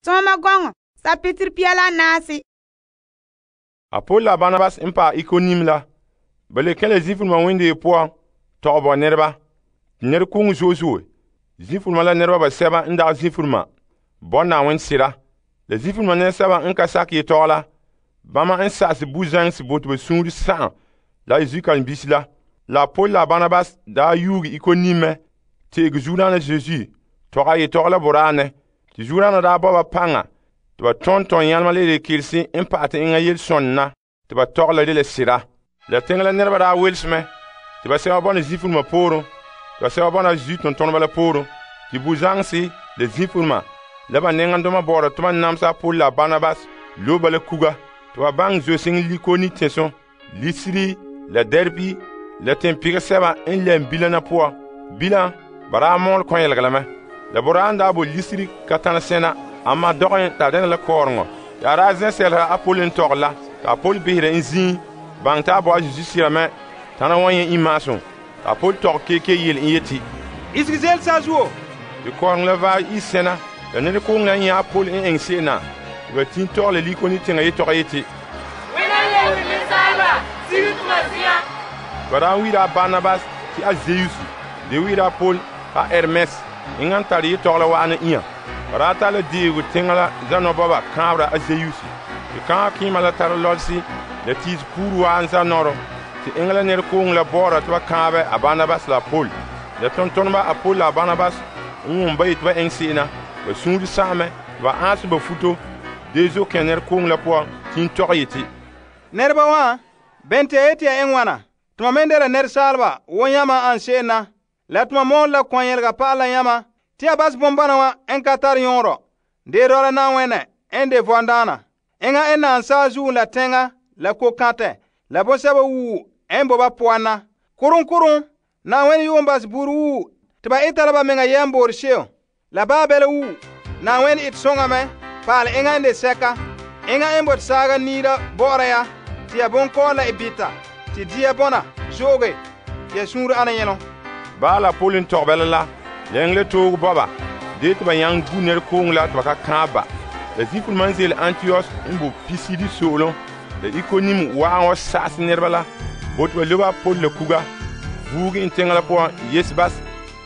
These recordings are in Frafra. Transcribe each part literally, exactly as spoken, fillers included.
Tɔɔma gɔŋɔ sapitiri pia la naasi. A Paul la Barnabas n paɛ Ikonim la, ba le kɛn la zifuluma wendee poan tɔgɛ bo nɛreba. Nɛrekooŋɔ zo'e zo'e. Zifuluma la nɛreba basɛba n dagɛ zifuluma bo Na'ayenɛ sera. La zifuluma nɛresɛba n ka sakɛ yetɔgɔ la, bama n sa'ase buzaŋsi bo te ba suunre sa'am la zukalembisi la. La Paul la Barnabas daa yuuge Ikonim mɛ te'ege Zuodaana Zesu tɔgɛ a yetɔgɔ la boraanɛ. Te Zuodaana daa bo ba paŋa te ba tɔn tɔn yɛlema la rekelsi n pa'ɛ te enŋa yelesɔne na te ba tɔgɛ la de la sera. La teŋa la nɛreba daa welse mɛ te ba sɛba bɔna zifuluma pooren, te ba sɛba bɔna Zesu tontoneba la pooren. Te buzaŋsi la zifuluma la ba nɛŋandoma bɔ'ɔra te ba namsa Paul la Barnabas lobe ba la kuga te ba baŋɛ zo'seŋɔ Likoni tɛnso, Lisiri la Derbi la teŋpegɛ sɛba n lɛm bilam na poan. Bilam ba daa mɔɔlɛ kɔn-yɛlegɛ la mɛ. La boraan daa bo Lisiri ka tana sɛna, amma dɔgɛ ta dɛna la kɔɔreŋɔ. Ya daa zɛ sɛlera a Paul n tɔgɛ la, ka Paul behera n zin baŋɛ ta bo a Zesu sira mɛ tana wan yɛ imaasum. Ka Paul tɔgɛ keke yele n yeti, isege zel saazuo. Te kɔɔreŋɔ la vaɛ yi sɛna, la nɛrekooŋɔ la n nyɛ a Paul n eŋɛ se'em na. Te ba tin tɔgɛ la Likoni teŋa yetɔgɔ yeti, wena lebe nensaaba sige tuma zia. Ba daa wiira a Barnabas ti a Zeus, de wiira a Paul a Hermes, eŋa n tare yetɔgɔ la wa'ana inya. Ba daa tara la deego teŋa la zanɔbɔba kãabera a Zeus. Te kãa kɩɩma la tara lɔlesi la tiisi puuru waa n zanɔrɔ. Te eŋa la nɛrekooŋɔ la bɔɔra te ba kãabe a Barnabas la Paul. La tontoneba a Paul la Barnabas n wʋm ba yeti ba eŋɛ se'em na. Ba suunre sa'amɛ te ba aanse ba futo dee zo kẽ nɛrekooŋɔ la puan tin tɔgɛ yeti, Nɛreba wã, bɛn te yeti ya eŋɛ ŋwana? Tuma me de la nɛresaaleba wo yãma an se'em na. La tuma mɔɔlɛ la kɔn-yɛlega pa'ala yãma tɩ ya bas bombana wã n ka tar yõorɔ. Dee dɔla Na'ayenɛ n de vɔndaana. Eŋa n naan saazuo la tɛŋa la ko-kãtɛ la bõsɛba wuu n bo ba poan na. Kurum kurum, Na'ayenɛ yuun bas buru wuu tɩ ba eta la ba meŋa yɛmboore se'em. La baabɛla wuu, Na'ayenɛ ete sõŋa mɛ paale eŋa n de sɛka. Eŋa n bote saaga niira bɔ'ɔra ya tɩ ya bonkɔɔ la e bita tɩ dia bɔna zo'oge ya suunre ana yẽlõ. Baa la Paul n tɔgɛ bɛla la, la eŋɛ la toogo bɔba, dee tɩ ba yãng gu nɛrekooŋɔ la tɩ ba ka kãab ba. La zifuluma n zeele Antiyɔs n bo Pisidi soolem, la Ikonim wa'an wa sa'ase nɛreba la, bo tɩ ba lobe a Paul la kuga, vuuge n teŋa la puan Yesbas,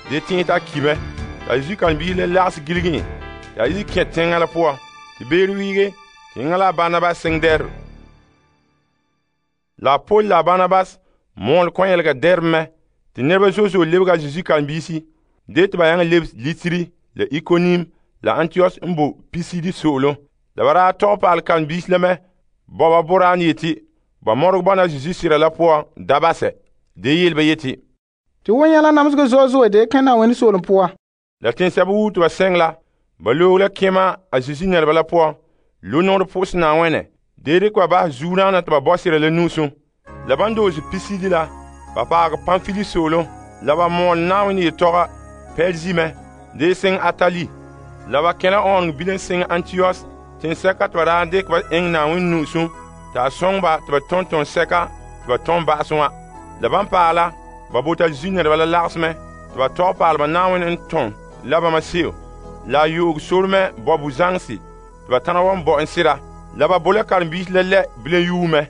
dee tẽe t'a ki mɛ. La zukalembisi la lagse giligi yẽ, ya yi kẽ teŋa la puan, tɩ beere wiige, tɩ yẽŋa la Barnabas sẽn dɛr. La Paul la Barnabas mɔɔlɛ kɔn-yɛlega dɛrem mɛ, tɩ nɛreba zo'e zo'e lebga Zesu kalembisi, dee tɩ ba yãng leb Lisiri la Ikonim la Antiyɔs n bo Pisidi soolem. La ba daa tɔgɛ paal kalembisi la mɛ, bɔba boraan yeti, ba mɔreg bɔna Zesu sira la puan dabasɛ, dee yel ba yeti, tɩ wõ yɛla namsegɔ zo'e zo'e dee kẽ Na'ayenɛ soolem puan. La tẽnsɛba wuu tɩ ba sɛng la, ba loog la kẽma a Zesu nɛreba la puan, lo-nogd pʋʋsẽ Na'ayenɛ, dee dɩk ba basɛ zuurãana tɩ ba bɔ sira la nuusum. La ban doose Pisidi la, ba paagɛ Pamfili soolem, la ba mɔɔl Na'ayenɛ yetɔga Pɛrzi mɛ, dee seŋ Atali. La ba kẽ la ɔɔnegɔ bilen seŋ Antiyɔs, tẽnsɛka tɩ ba daa dɩk ba eŋɛ Na'ayenɛ nuusum, t'a sõng ba tɩ ba tõn tõn sɛka tɩ ba tõn ba'asẽ wã. La ban paɛ la, ba bota Zesu nɛreba la lagesmɛ tɩ ba tɔg paalba Na'ayenɛ n tõn la bãmba seo, la a yoog sormɛ bɔ buzaŋsi tɩ ba tãna wa n bɔ n sɩda. La ba bo la karen-biisi la lɛ bilen yuu mɛ.